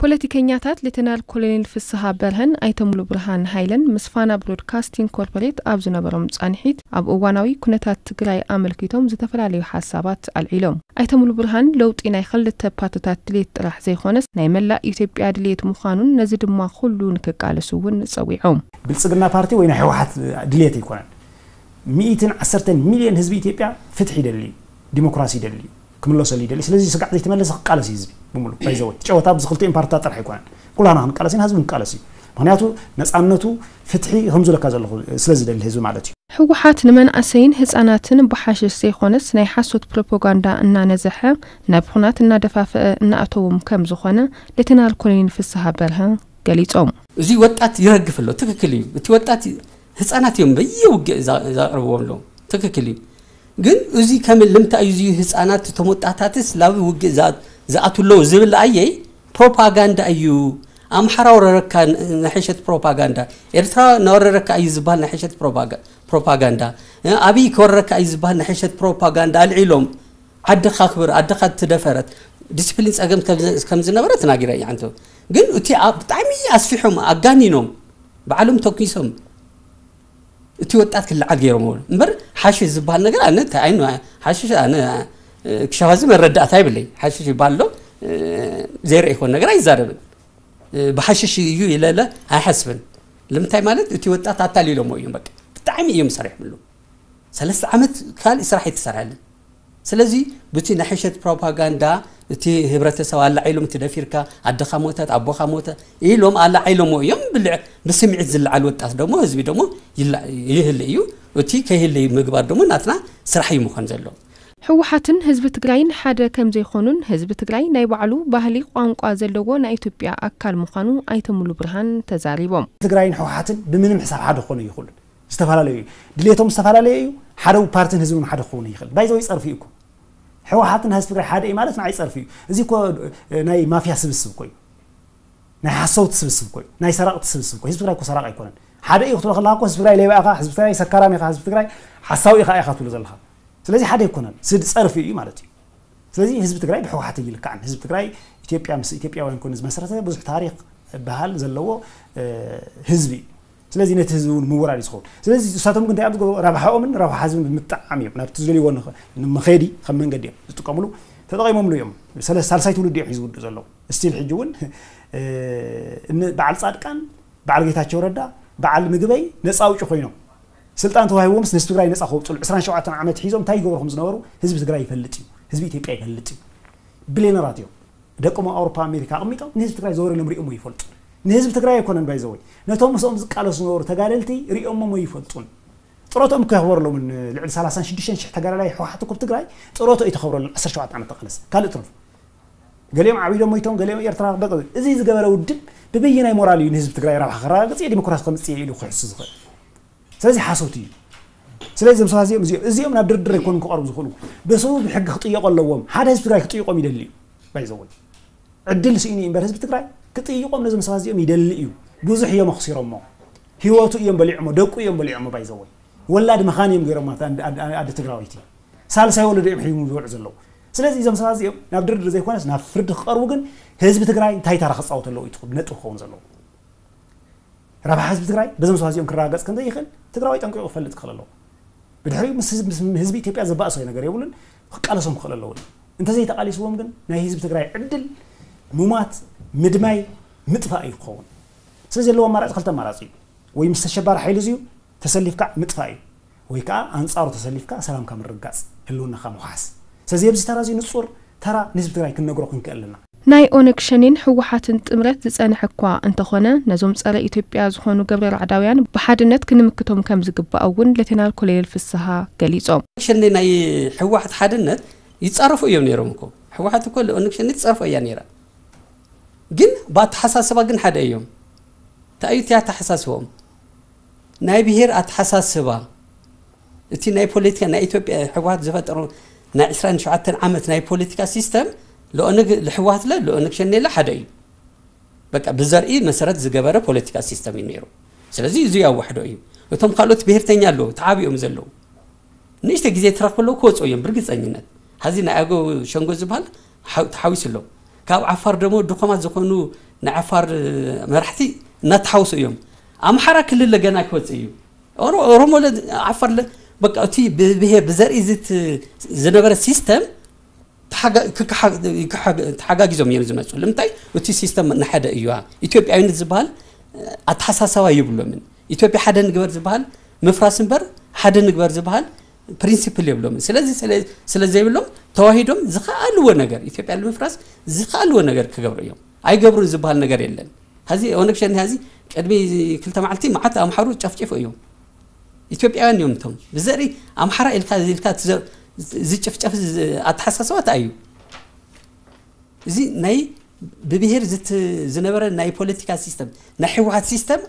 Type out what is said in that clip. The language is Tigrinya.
ፖለቲከኛታት ሌተናል ኮሎኔል ፍስሃ በርሀን ኣይተ ሙሉ ብርሃን ሃይለን ምስ ፋና ብሮድካስቲንግ ኮርፖሬት ኣብ ዝነበሮም ጻንሒት፣ ኣብ እዋናዊ ኩነታት ትግራይ ኣመልኪቶም ዝተፈላለዩ ሓሳባት ኣልዒሎም። ኣይተ ሙሉ ብርሃን ለውጢ ናይ ክልተ ፓርትታት ድሌት ጥራሕ ዘይኮነስ ናይ መላእ ኢትዮጵያ ድሌት ምዃኑን ነዚ ድማ ኩሉ ንክቃለሱ እውን ጸዊዖም። ብልጽግና ፓርቲ ወይ ናይ ህወሓት ድሌት ኣይኮነን። ሚእትን ዓሰርተን ሚልዮን ህዝቢ ኢትዮጵያ ፍትሒ ይደሊ፣ ዲሞክራሲ ይደሊ፣ ክምለሰሉ ይደሊ። ስለዚ ስጋዕ ዘይተመለሰ ክቃለስ እዩ ህዝቢ ብምሉ። ባይዘወይ ጨወታ ኣብዚ ክልቲኦም ፓርትታት ጥራሕ ኣይኮነን። ኩላና ክንቃለስ ኢና፣ ህዝቢ ክንቃለስ እዩ። ምክንያቱ ነፃነቱ፣ ፍትሒ ከምዝለካ ዘለኹ ስለ ዝደሊ ህዝቢ ማለት እዩ። ህወሓት ንመንእሰይን ህፃናትን ብሓሽሽ ዘይኮነስ ናይ ሓሶት ፕሮፓጋንዳ እናነዘሐ ናብ ኹናት እናደፋፈአ እናኣተዎም ከም ዝኾነ ሌተናል ኮሎኔል ፍስሃ በርሀ ገሊፆም። እዚ ወጣት ይረግፍ ኣሎ። ትክክል እዩ። እቲ ወጣት ህፃናት እዮም በየውግእ ዛ- ዛቕርብዎም ኣለዉ። ትክክል እዩ። ግን እዚ ከም ልምታይ እዩ እዚ ህፃናት እቶም ወጣታትስ ላብ ውግእ ዛ- ዝኣትዉ ኣለዉ ዝብል ኣየይ ፕሮፓጋንዳ እዩ። ኣምሓራ ወረረካ ን- ናይ ሕሸት ፕሮፓጋንዳ፣ ኤርትራ ናወረረካ እዩ ዝበሃል ናይ ሕሸት ፕሮፓጋ- ፕሮፓጋንዳ፣ እ፣ ኣብይ ከወረረካ እዩ ዝበሃል ናይ ሕሸት ፕሮፓጋንዳ ኣልዒሎም። ዓድኻ ክብር፣ ዓድኻ ትደፈረት፣ ዲስፕሊን ጸገም ከም- ከም ዝነበረ ተናጊረ እየ። ዓንቶ ግን እቲ ኣብ- ብጣዕሚ ኣስፊሖም ኣጋኒኖም ባዕሎም ተኪሶም እቲ ወጣት ክለዓል ገይሮም እምበር ሓሽሽ ዝበሃል ነገር ኣነ እንታይ ኣይኑ ሓሽሽ ኣነ ክሻባዚ መረዳእታ ይብለይ። ሓሽሽ ይበሃል ዶ ዘይርኢ ይኮን ነገር ኣይዛረብን። ብሓሽሽ እዩ ኢለለ ኣይሓስብን። ልምንታይ ማለት እቲ ወጣት ኣታሊሎሞ እዮም። በቃ ብጣዕሚ እዮም ሰሪሖምሉ። ሰለስተ ዓመት ካልእ ስራሕ ኣይተሰርሐልን። ስለዚ ብቲ ናይ ሕሸት ፕሮፓጋንዳ እቲ ህብረተሰብ ኣላዒሎም፣ እቲ ደፊርካ ኣደኻ ሞተት ኣቦኻ ሞተ ኢሎም ኣላዒሎሞ እዮም። ብልዕ- ብስምዒት ዝለዓል ወጣት ደሞ ህዝቢ ደሞ ይላ- ይህል እዩ። እቲ ከይህል ምግባር ደሞ ናትና ስራሕ እዩ ምኾን ዘለዎ። ህወሓትን ህዝቢ ትግራይን ሓደ ከም ዘይኮኑን ህዝቢ ትግራይ ናይ ባዕሉ ባህሊ ቋንቋ ዘለዎ ናይ ኢትዮጵያ ኣካል ምዃኑ ኣይተ ሙሉ ብርሃን ተዛሪቦም። ትግራይን ህወሓትን ብምንም ሕሳብ ሓደ ክኾኑ ይኽእሉን። ዝተፈላለዩ እዩ። ድሌቶም ዝተፈላለዩ እዩ። ሓደ ፓርትን ህዝብን ሓደ ክኸውን ይኽእል። ባይዘው ይጸርፍ እዩ እኮ። ህወሓትን ህዝቢ ትግራይ ሓደ እዩ ማለት ንዓይ ጸርፍ እዩ። እዚ እኮ ናይ ማፍያ ስብስብ እኮ እዩ። ናይ ሓሰውቲ ስብስብ እኮ እዩ። ናይ ሰራቕቲ ስብስብ እኮ እዩ። ህዝቢ ትግራይ እኮ ሰራቕ ኣይኮነን። ሓደ እዩ ክትብሎ ከለኻ እኮ ህዝቢ ትግራይ ሌባ ኢኻ፣ ህዝቢ ትግራይ ሰካራም ኢኻ፣ ህዝቢ ትግራይ ሓሳዊ ኢኻ ኢኻ ትብሎ ዘለኻ። ስለዚ ሓደ ኣይኮነን። ስድ ጸርፍ እዩ ማለት እዩ። ስለዚ ህዝቢ ትግራይ ብህወሓት ኣይልካዕን። ህዝቢ ትግራይ ኢትዮጵያ ምስ ኢትዮጵያውያን ኮይኑ ዝመሰረተ ብዙሕ ታሪኽ ባህል ዘለዎ ህዝቢ እዩ። ስለዚ ነቲ ህዝቢ እውን ምውራድ እዩ ዝኸውን። ስለዚ ንሳቶም ግን እንታይ እዮም ዝገብሩ? ረብሓኦምን ረብሓ ህዝብን ብምጥዓም እዮም ናብቲ ዝደልይዎ ንኸ- ንመኸዲ ከም መንገዲ እዮም ዝጥቀምሉ። ተጠቒሞምሉ እዮም። ሰለ- ሳልሳይ ትውልዲ እዮም ሒዙ ውድእ ዘለዉ። ስቲል ሕጂ እውን እ፣ እን- በዓል ፃድቃን፣ በዓል ጌታቸው ረዳ፣ በዓል ምግበይ ነፃ ኣውጪ ኮይኖም ስልጣን ተዋሂቦምስ ንህዝቢ ትግራይ ነፃ ከውፅሉ ዕስራን ሸውዓተን ዓመት ሒዞም እንታይ ይገብሩ ከም ዝነበሩ ህዝቢ ትግራይ ይፈልጥ እዩ። ህዝቢ ኢትዮጵያ ይፈልጥ እዩ። ቢልዮነራት እዮም። ደቆም ኣብ ኣውሮፓ ኣሜሪካ ኣቕሚጦም ንህዝቢ ትግራይ ዘወር ኢሎም ሪኦሞ ይፈልጡ። ንህዝቢ ትግራይ ኣይኮነን ባይዘወይ ነቶም ምስኦም ዝቃለሱ ዝነበሩ ተጋደልቲ ሪኦሞሞ ይፈልጡን። ጥሮቶም እኮ የኽበረሎምን። ልዕሊ ሰላሳን ሽዱሽተን ሽሕ ተጋዳላይ ህወሓት እኮ ኣብ ትግራይ ጥሮቶ እዩ ተኸብረሎም። ዓሰርተ ሸውዓተ ዓመት ተቃለሰ ካልእ ትረፉ። ገሊኦም ዓቢዶም ሞይቶም፣ ገሊኦም ኤርትራ በ- እዚ ዝገበረ ውድብ ብበየናይ ሞራል እዩ ንህዝቢ ትግራይ ረብሓ ከረጋግፅ እየ ዲሞክራሲ ከምፅእ እየ ኢሉ ክሕሱ ዝኽእል? ስለዚ ሓሶት እዩ። ስለዚ እዞም ሰባት እዚኦም እዚኦም እዚኦም ናብ ድርድር ኣይኮኑን ክቐርቡ ዝኽእሉ። ብስቡ ብሕጊ ክጥየቁ ኣለዎም። ሓደ ህዝቢ ትግራይ ክጥይቆም ይደሊ እዩ። ባይዘወይ ዕድል ስኢኑ እዩ እምበር ህዝቢ ትግራይ ክጥይቆም ነዞም ሰባት እዚኦም ይደሊ እዩ። ብዙሕ እዮም ኣኽሲሮሞ። ህይወቱ እዮም በሊዖሞ፣ ደቁ እዮም በሊዖሞ። ባይዘወይ ወላድ መኻን እዮም ገይሮሞ። ኣደ- ኣደ- ኣደ ትግራወይቲ ሳልሳይ ወለዶ እዮም ሒዞም ዝውዑ ዘለዉ። ስለዚ እዞም ሰባት እዚኦም ናብ ድርድር ዘይኮነስ ናብ ፍርዲ ክቐርቡ ግን ህዝቢ ትግራይ እንታይ ታራ ክፃወት ኣለዎ እዩ ነጥብ ክኸውን ዘለዎ። ረብሓ ህዝቢ ትግራይ በዞም ሰባት እዚኦም ክረጋገፅ ከም ዘይኽእል ትግራዋይ ጠንቂቑ ክፈልጥ ክኽእል ኣለዎ። ብድሕሪኡ ምስ ህዝቢ- ምስ ህዝቢ ኢትዮጵያ ዘባእሶ ነገር የብሉን። ክቃለሶም ክኽእል ኣለዎ። እንተዘይተቃሊስዎም ግን ናይ ህዝቢ ትግራይ ዕድል ምሟት ምድማይ ምጥፋእ እዩ ክኸውን። ስለዚ ዘለዎ ኣማራፂ ክልተ ኣማራፂ እዩ። ወይ ምስ ተሸባሪ ሓይሊ እዚዩ ተሰሊፍካ ምጥፋእ እዩ፣ ወይ ከዓ ኣንፃሩ ተሰሊፍካ ሰላምካ ምርጋፅ፣ ህልውናኻ ምውሓስ። ስለዚ ኣብዚ ተራ እዚ ንፁር ተራ ንህዝቢ ትግራይ ክንነግሮ ክንክእል ኣለና። ናይ ኦነግ ሸኔን ህወሓትን ጥምረት ዝፀንሐ እኳ እንተኾነ ነዞም ፀረ ኢትዮጵያ ዝኾኑ ግብረ ራዕዳውያን ብሓድነት ክንምክቶም ከም ዝግባእ እውን ሌተናል ኮሎኔል ፍስሃ ገሊፆም። ሸኔ ናይ ህወሓት ሓድነት ይፃረፉ እዮም ነይሮም እኮ። ህወሓት እኮ ኦነግ ሸኔ ትፀርፎ እያ ነይራ። ግን ብኣተሓሳስባ ግን ሓደ እዮም። እንታይ እዩ እቲ ኣተሓሳስባኦም? ናይ ብሄር ኣተሓሳስባ። እቲ ናይ ፖለቲካ ናይ ኢትዮጵያ ህወሓት ዝፈጠሩ ናይ ዕስራን ሸውዓተን ዓመት ናይ ፖለቲካ ሲስተም ለኦነግ ለህወሓት ለ ለኦነግ ሸኔ ለ ሓደ እዩ። በቃ ብዘርኢ መሰረት ዝገበረ ፖለቲካ ሲስተም እዩ ነይሩ። ስለዚ እዚ ያዋሕዶ እዩ። እቶም ካልኦት ብሄርተኛ ኣለዉ ተዓቢኦም ዘለዉ ንእሽተ ግዜ ትረኽብለው ክወፁ እዮም ብርግፀኝነት። ሀዚ ናይ ኣገው ሸንጎ ዝበሃል ሓው- ተሓዊሱ ኣሎ። ካብ ዓፋር ደሞ ድኾማት ዝኾኑ ናይ ዓፋር መራሕቲ እናተሓውሱ እዮም። ኣምሓራ ክልል ገና ክወፅእ እዩ። ኦሮሞ ዓፋር በቃ እቲ ብብሄር ብዘርኢ ዝነበረ ሲስተም ተሓጋጊዞም እዮም ዝመፁ። ንምንታይ? እቲ ሲስተም ንሓደ እዩ። ኢትዮጵያዊነት ዝበሃል ኣተሓሳሰባ የብሎምን። ኢትዮጵያ ሓደ ንግበር ዝበሃል ምፍራስ እምበር ሓደ ንግበር ዝበሃል ፕሪንሲፕል የብሎምን። ስለዚ ስለ ዘይብሎም ተዋሂዶም ዝኸኣልዎ ነገር ኢትዮጵያ ንምፍራስ ዝኸኣልዎ ነገር ክገብሩ እዮም። ኣይገብሩን ዝበሃል ነገር የለን። ሀዚ ኦነግ ሸኔ ሀዚ ቅድሚ ክልተ መዓልቲ መዓት ኣምሓሩ ጨፍጭፉ እዮም። ኢትዮጵያውያን እዮም እቶም ብዘርኢ ኣምሓራ ኢልካ ኢልካ ዝጭፍጨፍ ኣተሓሳሰባ እዩ። እዚ ናይ ብብሄር ዝነበረ ናይ ፖለቲካ ሲስተም ናይ ህወሓት ሲስተም